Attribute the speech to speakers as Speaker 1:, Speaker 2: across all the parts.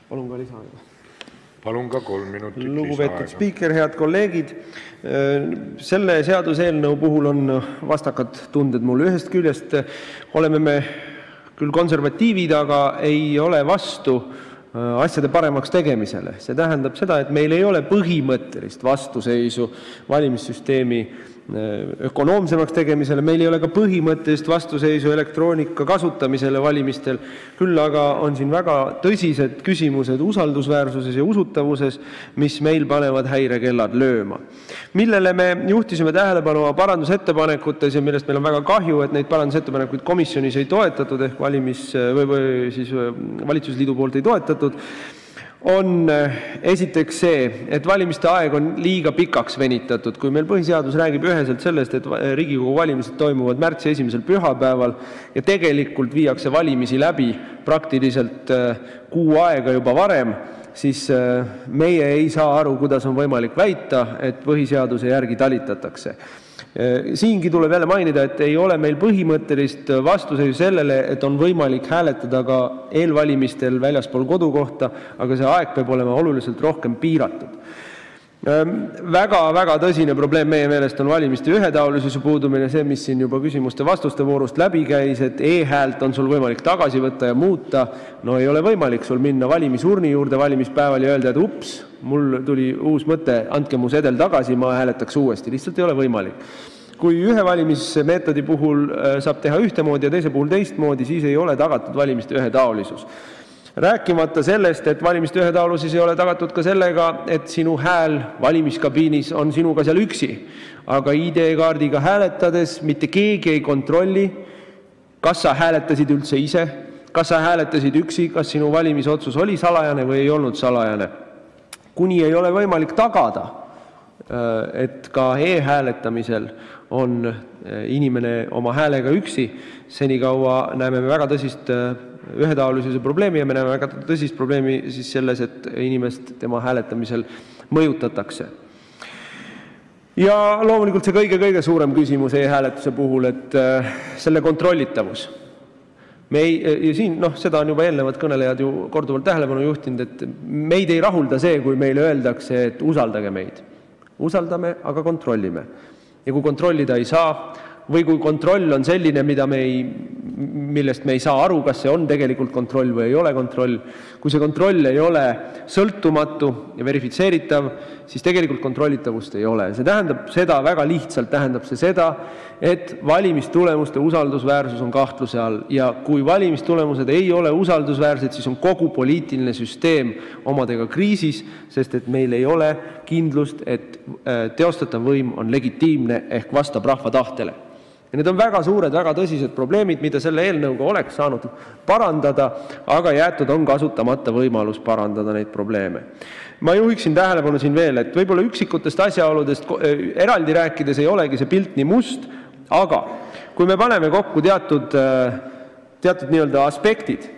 Speaker 1: Palun ka lisaaega.
Speaker 2: Palun ka 3 minutit lisaaega.
Speaker 1: Lugupeetud spiiker, head kolleegid. Selle seaduseelnõu puhul on vastakad tunded mul. Ühest küljest oleme me küll konservatiivid, aga ei ole vastu asjade paremaks tegemisele. See tähendab seda, et meil ei ole põhimõttelist vastuseisu valimissüsteemi ökonoomsemaks tegemisele, meil ei ole ka põhimõttelist vastuseisu elektroonika kasutamisele valimistel, küll aga on siin väga tõsised küsimused usaldusväärsuses ja usutavuses, mis meil panevad häirekellad lööma. Millele me juhtisime tähelepanu parandusettepanekutes ja millest meil on väga kahju, et neid parandusettepanekuid komisjonis ei toetatud ehk valitsusliidu poolt ei toetatud, on esiteks see, et valimiste aeg on liiga pikaks venitatud. Kui meil põhiseadus räägib üheselt sellest, et Riigikogu valimised toimuvad märtsi 1. pühapäeval ja tegelikult viiakse valimisi läbi praktiliselt kuu aega juba varem, siis meie ei saa aru, kuidas on võimalik väita, et põhiseaduse järgi talitatakse. Siingi tuleb jälle mainida, et ei ole meil põhimõttelist vastuseisu sellele, et on võimalik hääletada ka eelvalimistel väljaspool kodukohta, aga see aeg peab olema oluliselt rohkem piiratud. Väga tõsine probleem meie meelest on valimiste ühetaolisuse puudumine, see, mis siin juba küsimuste vastuste voorust läbi käis, et e-häält on sul võimalik tagasi võtta ja muuta. No ei ole võimalik sul minna valimisurni juurde valimispäeval ja öelda, et ups, mul tuli uus mõte, andke mu sedel tagasi, ma hääletaks uuesti. Lihtsalt ei ole võimalik. Kui ühe valimismeetodi puhul saab teha ühtemoodi ja teise puhul teistmoodi, siis ei ole tagatud valimiste ühetaolisus. Rääkimata sellest, et valimiste ühetaolisus ei ole tagatud ka sellega, et sinu hääl valimiskabiinis on sinuga seal üksi, aga ID-kaardiga hääletades mitte keegi ei kontrolli, kas sa hääletasid üldse ise, kas sa hääletasid üksi, kas sinu valimisotsus oli salajane või ei olnud salajane. Kuni ei ole võimalik tagada, et ka e-hääletamisel on inimene oma häälega üksi, senikaua näeme me väga tõsist ühetaolisuse probleemi ja me näeme väga tõsist probleemi siis selles, et inimest tema hääletamisel mõjutatakse. Ja loomulikult see kõige suurem küsimus e-hääletuse puhul, et selle kontrollitavus. Ja siin, seda on juba eelnevad kõnelejad ju korduvalt tähelepanu juhtinud, et meid ei rahulda see, kui meile öeldakse, et usaldage meid. Usaldame, aga kontrollime. Ja kui kontrollida ei saa, või kui kontroll on selline, millest me ei saa aru, kas see on tegelikult kontroll või ei ole kontroll. Kui see kontroll ei ole sõltumatu ja verifitseeritav, siis tegelikult kontrollitavust ei ole. See tähendab seda, väga lihtsalt tähendab see seda, et valimistulemuste usaldusväärsus on kahtluse all. Ja kui valimistulemused ei ole usaldusväärsed, siis on kogu poliitiline süsteem omadega kriisis, sest et meil ei ole kindlust, et teostatav võim on legitiimne ehk vastab rahva tahtele. Ja need on väga suured, väga tõsised probleemid, mida selle eelnõuga oleks saanud parandada, aga jäetud on kasutamata võimalus parandada neid probleeme. Ma juhiksin tähelepanu siin veel, et võib-olla üksikutest asjaoludest eraldi rääkides ei olegi see pilt nii must, aga kui me paneme kokku teatud nii-öelda aspektid,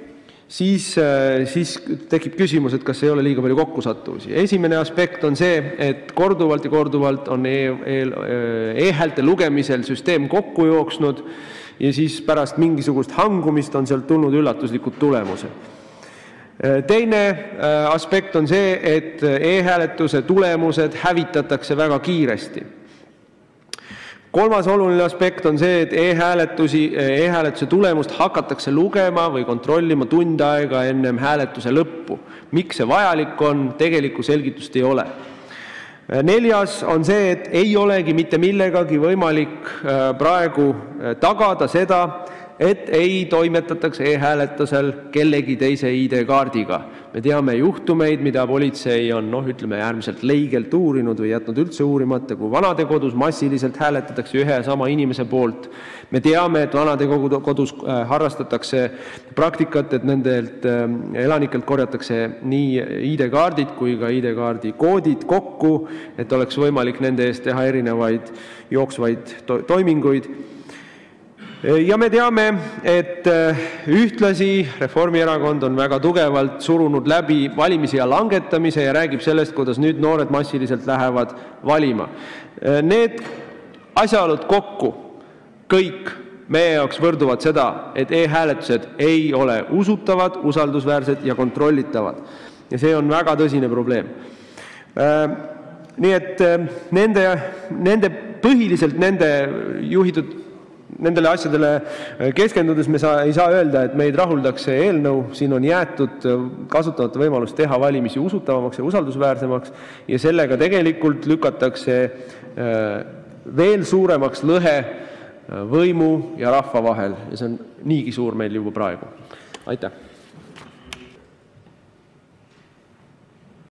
Speaker 1: siis tekib küsimus, et kas ei ole liiga palju kokkusattuvusi. Esimene aspekt on see, et korduvalt on e-häälte lugemisel süsteem kokku jooksnud ja siis pärast mingisugust hangumist on sealt tulnud üllatuslikud tulemused. Teine aspekt on see, et e-hääletuse tulemused hävitatakse väga kiiresti. Kolmas oluline aspekt on see, et e-hääletuse tulemust hakatakse lugema või kontrollima tund aega ennem hääletuse lõppu. Miks see vajalik on, tegelikku selgitust ei ole. Neljas on see, et ei olegi mitte millegagi võimalik praegu tagada seda, et ei toimetatakse e-hääletusel kellegi teise ID-kaardiga. Me teame juhtumeid, mida politsei on äärmiselt leigelt uurinud või jätnud üldse uurimata, kui vanadekodus massiliselt hääletatakse ühe ja sama inimese poolt. Me teame, et vanadekodus harrastatakse praktikat, et nendelt elanikelt korjatakse nii ID-kaardid kui ka ID-kaardi koodid kokku, et oleks võimalik nende eest teha erinevaid jooksvaid toiminguid. Ja me teame, et ühtlasi Reformierakond on väga tugevalt surunud läbi valimisea langetamise ja räägib sellest, kuidas nüüd noored massiliselt lähevad valima. Need asjaolud kokku kõik meie jaoks võrduvad seda, et e-hääletused ei ole usutavad, usaldusväärsed ja kontrollitavad. ja see on väga tõsine probleem. Nii et põhiliselt nende juhitud nendele asjadele keskendudes me ei saa öelda, et meid rahuldaks see eelnõu. Siin on jäetud kasutamata võimalus teha valimisi usutavamaks ja usaldusväärsemaks ja sellega tegelikult lükatakse veel suuremaks lõhe võimu ja rahva vahel ja see on niigi suur meil juba praegu. Aitäh!